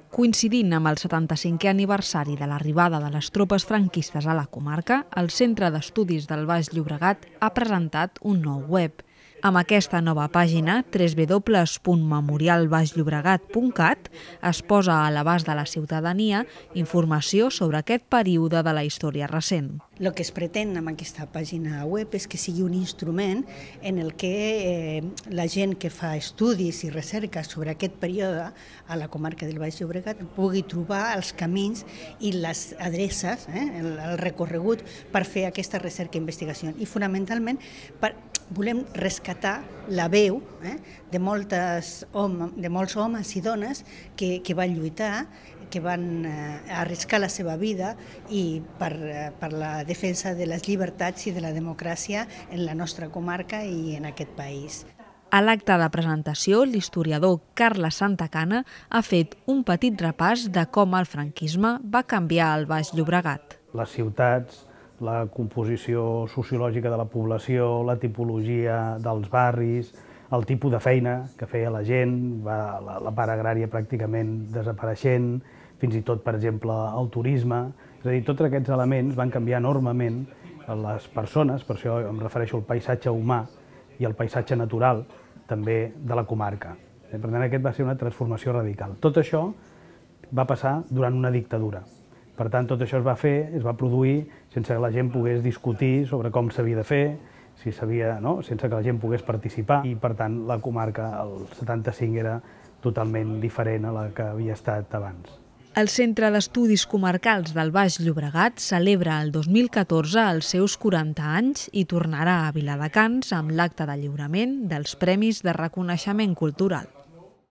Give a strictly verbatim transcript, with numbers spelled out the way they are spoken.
Coincidint amb el setanta-cinquè aniversari de l'arribada de les tropes franquistes a la comarca, el Centre d'Estudis del Baix Llobregat ha presentat un nou web. Amb aquesta nova pàgina, w w w punt memorial baix llobregat punt cat, es posa a l'abast de la ciutadania informació sobre aquest període de la història recent. El que es pretén amb aquesta pàgina web és que sigui un instrument en el que eh, la gent que fa estudis i recerca sobre aquest període a la comarca del Baix Llobregat pugui trobar els camins i les adreces, eh, el, el recorregut per fer aquesta recerca i investigació. I fonamentalment per, volem rescatar la veu eh, de, moltes home, de molts homes i dones que, que van lluitar, que van eh, arriscar la seva vida i per, eh, per la defensa de les llibertats i de la democràcia en la nostra comarca i en aquest país. A l'acte de presentació, l'historiador Carles Santacana ha fet un petit repàs de com el franquisme va canviar el Baix Llobregat. Les ciutats, la composició sociològica de la població, la tipologia dels barris, el tipus de feina que feia la gent, va, la, la part agrària pràcticament desapareixent, fins i tot, per exemple, el turisme. És a dir, tots aquests elements van canviar enormement les persones, per això em refereixo al paisatge humà i al paisatge natural també de la comarca. Per tant, aquest va ser una transformació radical. Tot això va passar durant una dictadura. Per tant, tot això es va fer, es va produir sense que la gent pogués discutir sobre com s'havia de fer, si s'havia, no? sense que la gent pogués participar, i per tant la comarca, el setanta-cinc, era totalment diferent a la que havia estat abans. El Centre d'Estudis Comarcals del Baix Llobregat celebra el dos mil catorze els seus quaranta anys i tornarà a Viladecans amb l'acte de lliurament dels Premis de Reconeixement Cultural.